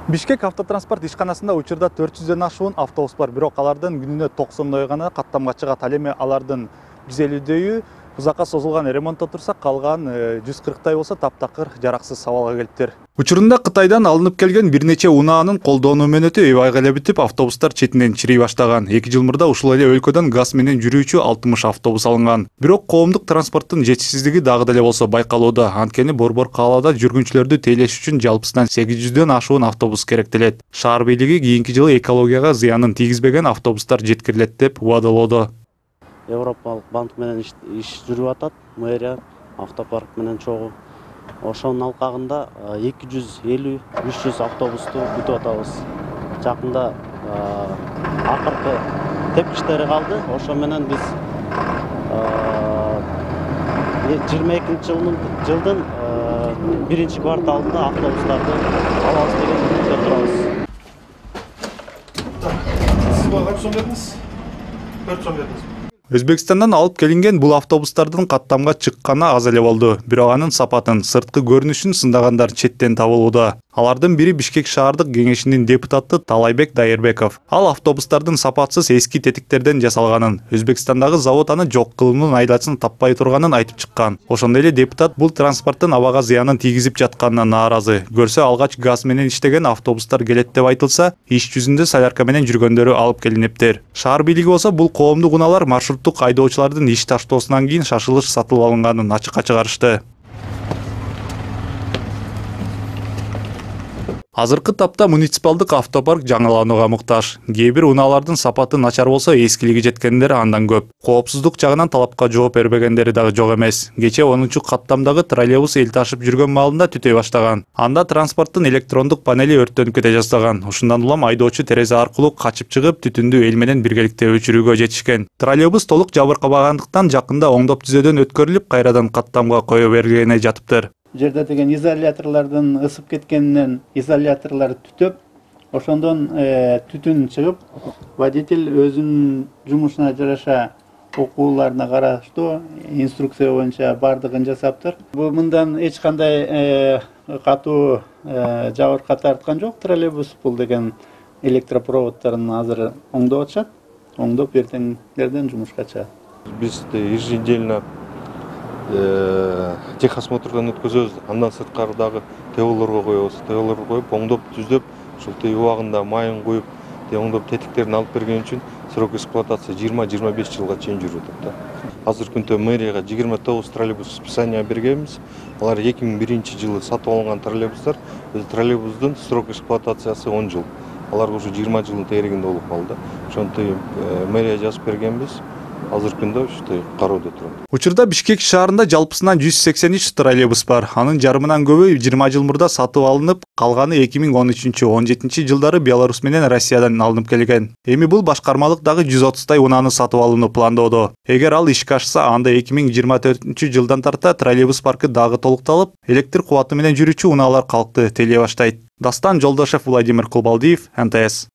Бишкек автотранспорт ишканасында учурда 400дөн ашуун автобус бар, бирок алардын күнүнө 90 гана каттамга чыгат. Ал эми алардын 150дөйү узакка созулган ремонтто турса, калган 140 болсо таптакыр жараксыз абалга келиптир. Учурунда Кытайдан алынып келген бир нече унаанын колдонуу мөөнөтү эбайга эле бүтүп, автобустар четинен чирей баштаган. 2 жыл мурда ушул эле өлкөдөн газ менен жүрүүчү 60 автобус алынган. Бирок коомдук транспорттун жетишсиздиги дагы деле болсо байкалууда. Анткени борбор каалоодо жүргүнчүлөрдү тейлеш үчүн жалпысынан 800дөн ашуун автобус керектелет. Шаар бийлиги кийинки жылы экологияга зыянын тийгизбеген автобустар жеткирилет деп убадалоодо. Европалык банк менен иш жүрүп атат, мэрия автопарк менен чогуу. Ошонун алкагында 250-300 автобусту күтүп атабыз. Жакында акыркы тепкичтери калды. Ошо менен биз 22 жылдын 1 кварталында автобустарды алабыз деген үмүттө турабыз. Сиз баган сом бердиңиз? 4 сом бердиңиз. Өзбекстандан алып келинген бул автобустардын каттамга чыкканы аз эле болду. Бирок анын сапатын, сырткы көрүнүшүн сындагандар четтен табылууда. Алардын бири Бишкек шаардык кеңешинин депутаты Талайбек Дайырбеков. Ал автобустардын сапатсыз эски тетиктерден жасалганын, Өзбекстандагы завод аны жок кылуунун айдачын таппай турганын айтып чыккан. Ошондой эле депутат бул транспорттун абага зыянын тийгизип жатканына нааразы. Көрсө алгач газ менен иштеген автобустар келет деп айтылса, иш жүзүндө солярка менен жүргөндөрү алып келиниптир. Шаар бийлиги болсо бул коомдук унаалар маршруттук айдоочулардын иш таштоосунан кийин шашылыш сатылып алынганын ачыкка чыгарышты. Азыркы тапта муниципалдык автопарк жаңыланууга муктаж. Кээ бир унаалардын сапаты начар болсо, эскилиги жеткендер андан көп. Коопсуздук жагынан талапка жооп бербегендери дагы жок эмес. Кече 10-каттамдагы троллейбус эл ташып жүргөн маалында түтөй баштаган. Анда транспорттун электрондук панели өрттөнүп кете жаздаган. Ушундан улам айдоочу терезе аркылуу качып чыгып, түтүндү эл менен биргеликте өчүрүүгө жетишкен. Троллейбус толук жабыркабагандыктан жакында оңдоп түзөөдөн өткөрүлүп, кайрадан каттамга кое бергене жатыптыр. Жерде деген изоляторлордун ысып кеткенинен изоляторлор түтөп, ошондон түтүн чыгып, водитель өзүнүн жумушуна жараша окууларына караштуу инструкция боюнча бардыгын жасаптыр. Бул мындан эч кандай катуу жабырка тарткан жок. Троллейбус бул деген электропроводдорун азыр оңдоп атышат. Оңдоп эртеңдерден жумушка чыгат. Биз еженедельно техосмотрдан өткөзөбүз, андан сырткардагы ТОлорго коебуз. ТОлорго коюп, оңдоп түзөп, ушул убагында майын коюп, оңдоп тетиктерин алып берген үчүн срок эксплуатация 20-25 жылга чейин жүрүп атат. Азыркы күндө мэрияга 29 троллейбус списания бергенбиз. Алар 2001 жылы сатып алынган троллейбустар. Троллейбустун срок эксплуатациясы 10 жыл. Аларга уже 20 жылдын тегерегинде болуп калды. Ошондой мэрия жазып бергенбиз. Азыркы күндө ушундай кароодо турат. Учурда Бишкек шаарында жалпысынан 183 троллейбус бар. Анын жарымынан көбү 20 жыл мурда сатып алынып, калганы 2013-17 жылдары Беларусь менен Россиядан алынып келген. Эми бул башкармалык дагы 130 унааны сатып алууну пландоодо. Эгер ал ишке ашса, анда 2024 жылдан тарта троллейбус паркы дагы толукталып, электр кубаты менен жүрүүчү унаалар калкты тейлей баштайт. Дастан Жолдошев, Владимир Кулбалдиев, НТС.